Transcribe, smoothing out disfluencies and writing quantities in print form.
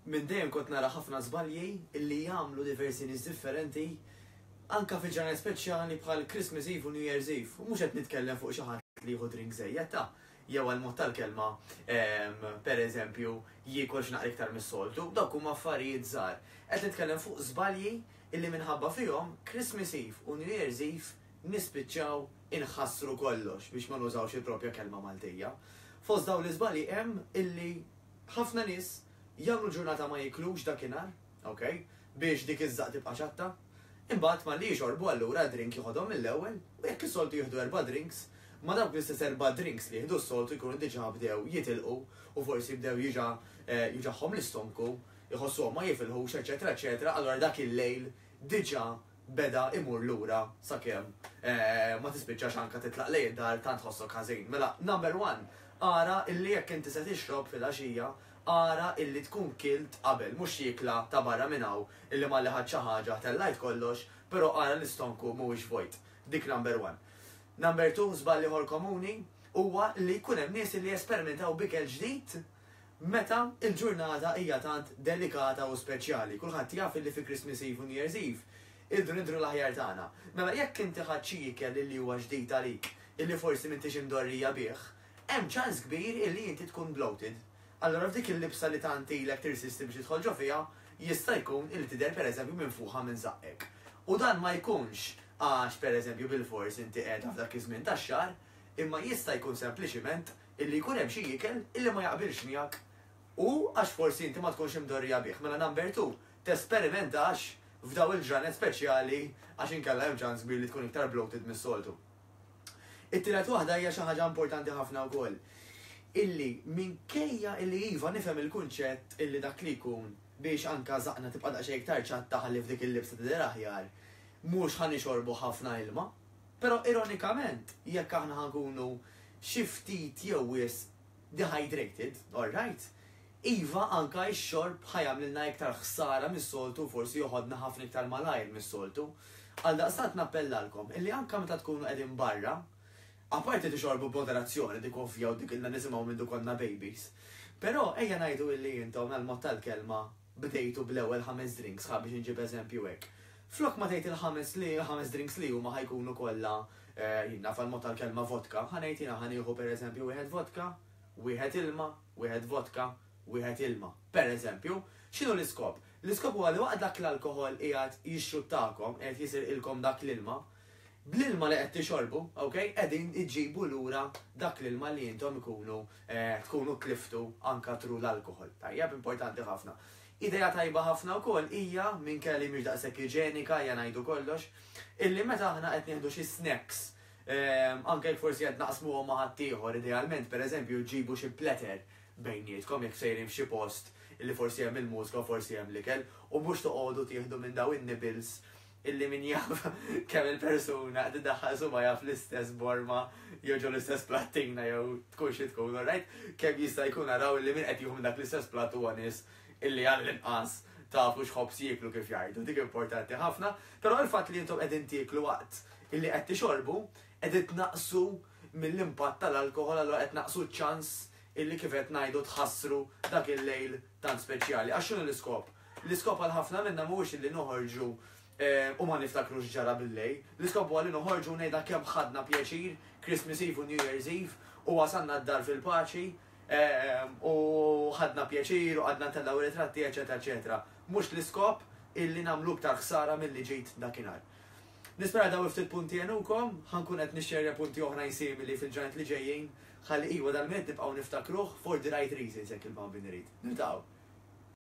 Minn dejjem kont nara ħafna żbalji illi jagħmlu diversi nies differenti anke fi ġranet speċjali bħal Christmas Eve u New Year's Eve. U mhux qed nitkellem fuq xi ħadd li jieħu drink żejjed ta' jew għal mod tal-kelma per eżempju jiekol xi naqra iktar mis-soltu, dawk huma affarijiet żgħar. Qed nitkellem fuq żbalji illi minħabba fihom Christmas Eve u New Year's Eve nispiċċaw inħassru kollox biex ma nużawx il-propja kelma Maltija. Fost dawn l-iżbalji hemm illi Ħafna nies jagħmlu ġurnata ma jiklux dakinhar, ok, biex dik iż-żaqq tibqa' ċatta. Imbagħad malli jixorbu allura drink joħodhom mill-ewwel u jekk is-soltu jieħdu erba' drinks, ma' dawk l-istess erba' drinks li jieħdu s-soltu jkunu diġà bdew jitilqu u forsi bdew jiġa juġagħhom l-istonku, iħossuhom ma jifilħux eċċetera eċċetera allura dak il-lejl diġà beda imur lura sakemm ma tispiċċax anke titlaq lejn id-dar tant tħossok ħażin. Mela, number one, ara illi jekk inti se tixrob filgħaxija, ara illi tkun kilt qabel, mhux xi ikla ta' barra minn hawn illi malli ħadt xi ħaġa tellajt kollox, però ara l-istonku mhuwiex vojt. Dik number one. Number two, żball ieħor komuni huwa li jkun hemm nies illi jesperimentaw b'ikel ġdid Meta l-ġurnata hija tant delikata u speċjali, kulħadd jaf illi fi Christmas Eve u New Year's Eve irridu nidhru l-aħjar tagħna. Mela jekk inti ħadt xi ikel illi huwa ġdid għalik, illi forsi m'intix imdorrija bih, hemm ċans kbir illi inti tkun bloated. Allura f'dik il-libsa li tant ilek tirsisti biex tidħol ġo fiha, jista' jkun illi tidher pereżempju minfuħa minn żaqqek. U dan ma jkunx għax pereżempju bilfors inti qiegħda f'dak iż-żmien tax-xahar, imma jista' jkun sempliċiment illi jkun hemm xi ikel illi ma jaqbilx miegħek u għax forsi inti ma tkunx imdorrija bih. Mela number two, tesperimentax f'daw il-ġranet speċjali għax inkella hemm ċans kbir li tkun iktar bloated mis-soltu. It-tielet waħda hija xi ħaġa importanti ħafna wkoll. Illi minkejja illi iva nifhem il-kunċett illi dak li jkun biex anka żaqna tibqa' daqsxejn iktar ċatta ħalli f'dik il-libsa tidher aħjar, mhux ħa nixorbu ħafna ilma. Però ironikament, jekk aħna ħa nkunu xi ftit jew wisq dehydrated, all right, iva anka x-xorb ħa jagħmlilna iktar ħsara mis-soltu u forsi joħodna ħafna iktar malajr mis-soltu. Għaldaqstant nappellalkom illi anka meta tkunu qegħdin barra, apparti tixorbu b'moderazzjoni, dik ovvja u dik ilna nisimgħu mindu konna babies, però ejja ngħidu illi intom għall-mod tal-kelma bdejtu bl-ewwel ħames drinks, ħa biex inġib eżempju hekk. Flok ma tgħid il-ħames li il-ħames drinks li huma ħa jkunu kollha jien naf għall-mod tal-kelma vodka, ħa ngħid jiena ħa nieħu pereżempju wieħed vodka, wieħed ilma, wieħed vodka, wieħed ilma. Pereżempju, x'inhu l-iskop? L-iskop huwa li waqt dak l-alkoħol qiegħed jixxuttakom, qiegħed jisirqilkom dak l-ilma, bl-ilma li qed tixorbu, ok, qegħdin iġġibu lura dak l-ilma li intom ikunu tkunu tliftu anka through l-alkoħol. Tajjeb, importanti ħafna. Idea tajba ħafna wkoll hija, minkejja li mhix daqshekk iġenika, ejja ngħidu kollox, illi meta aħna qed nieħdu xi snacks, anke jekk forsi qed naqsmuhom ma' ħaddieħor, idealment pereżempju ġibu xi platter bejnietkom jekk sejrin f'xi post illi forsi hemm il-mużika u forsi hemm l-ikel, u mhux toqogħdu tieħdu minn dawn in-nibbles illi min jaf kemm il-persuna qed iddaħħal subgħajha fl-istess borma jew ġo l-istess plattina jew tkun xi tkun, alright? Kemm jista' jkun araw illi min qed jieħu minn dak l-istess platt huwa nies illi għall-inqas tafu x'ħobż jieklu kif jgħidu, dik importanti ħafna, però il-fatt li intom qegħdin tieklu waqt illi qed tixorbu, qegħdin tnaqqsu mill-impatt tal-alkoħol allura qed tnaqqsu ċ-ċans illi kif qed ngħidu tħassru dak il-lejl tant speċjali. Għax x'inhu l-iskop? L-iskop għal ħafna minna mhuwiex illi noħorġu u ma niftakrux x'ġara bil-lejl. L-iskop huwa li noħorġu u ngħidha kemm ħadna pjaċir Christmas Eve u New Year's Eve u wasalna d-dar fil-paċi u ħadna pjaċir u qgħadna ntellgħu ritratti eċċetera eċċetera. Mhux l-iskop illi nagħmlu iktar ħsara milli ġid dakinhar. Nispera dawn il-ftit punti għenukom, ħa nkun qed nixxerja punti oħrajn simili fil-ġranet li ġejjin ħalli iwa dal-Milied nibqgħu niftakruh for the right reasons jekk il-Bambin irid. Niltaqgħu.